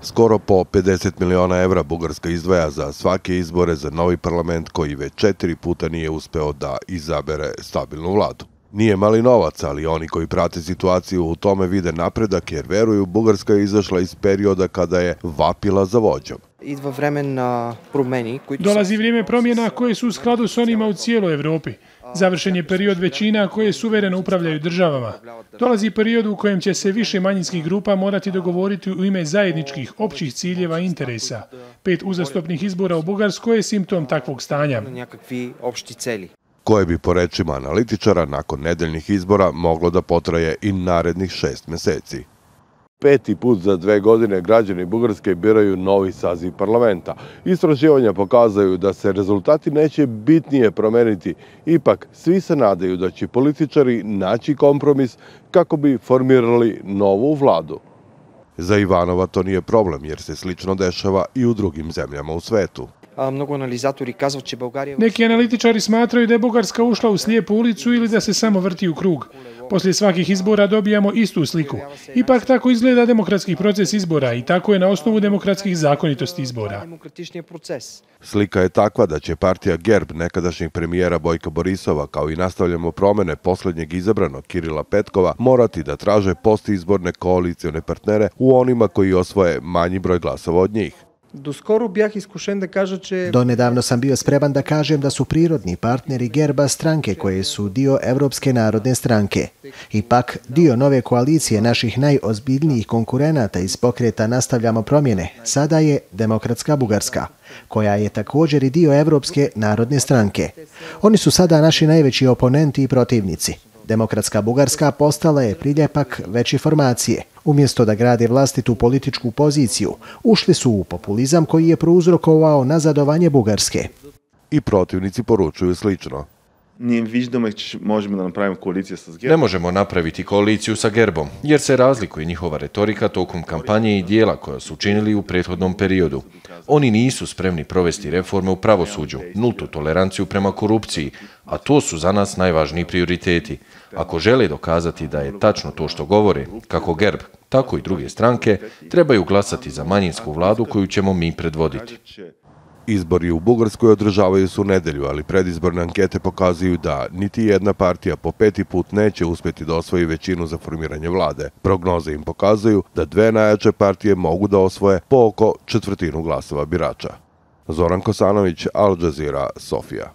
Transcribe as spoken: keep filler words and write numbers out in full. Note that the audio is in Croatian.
Skoro po pedeset miliona evra Bugarska izdvaja za svake izbore za novi parlament koji već četiri puta nije uspeo da izabere stabilnu vladu. Nije mali novac, ali oni koji prate situaciju u tome vide napredak jer veruju Bugarska je izašla iz perioda kada je vapila za vođom. Dolazi vrijeme promjena koje su u skladu s onima u cijeloj Evropi. Završen je period većina koje suvereno upravljaju državama. Dolazi period u kojem će se više manjinskih grupa morati dogovoriti u ime zajedničkih općih ciljeva i interesa. Pet uzastopnih izbora u Bugarskoj je simptom takvog stanja. Koje bi po rečima analitičara nakon nedeljnih izbora moglo da potraje i narednih šest meseci. Peti put za dve godine građani Bugarske biraju novi saziv parlamenta. Istraživanja pokazaju da se rezultati neće bitnije promeniti. Ipak, svi se nadaju da će političari naći kompromis kako bi formirali novu vladu. Za Ivanova to nije problem jer se slično dešava i u drugim zemljama u svetu. Neki analitičari smatraju da je Bugarska ušla u slijepu ulicu ili da se samo vrti u krug. Poslije svakih izbora dobijamo istu sliku. Ipak tako izgleda demokratski proces izbora i tako je na osnovu demokratskih zakonitosti izbora. Slika je takva da će partija Gerb nekadašnjeg premijera Bojka Borisova, kao i nastavljamo promene posljednjeg izabranog Kirila Petkova, morati da traže postizborne koalicione partnere u onima koji osvoje manji broj glasova od njih. Donedavno sam bio spreman da kažem da su prirodni partneri Gerba stranke koje su dio Evropske narodne stranke. Ipak, dio nove koalicije naših najozbiljnijih konkurenata iz pokreta Nastavljamo promjene sada je Demokratska Bugarska, koja je također i dio Evropske narodne stranke. Oni su sada naši najveći oponenti i protivnici. Demokratska Bugarska postala je priljepak veće formacije. Umjesto da grade vlastitu političku poziciju, ušli su u populizam koji je prouzrokovao nazadovanje Bugarske. I protivnici poručuju slično. Ne možemo napraviti koaliciju sa Gerbom, jer se razlikuje njihova retorika tokom kampanje i dijela koja su učinili u prethodnom periodu. Oni nisu spremni provesti reforme u pravosuđu, nultu toleranciju prema korupciji, a to su za nas najvažniji prioriteti. Ako žele dokazati da je tačno to što govore, kako Gerb, tako i druge stranke, trebaju glasati za manjinsku vladu koju ćemo mi predvoditi. Izbori u Bugarskoj održavaju se u nedelju, ali predizborne ankete pokazuju da niti jedna partija po peti put neće uspjeti da osvoji većinu za formiranje vlade. Prognoze im pokazuju da dve najjače partije mogu da osvoje po oko četvrtinu glasova birača. Zoran Kosanović, Al Jazeera, Sofija.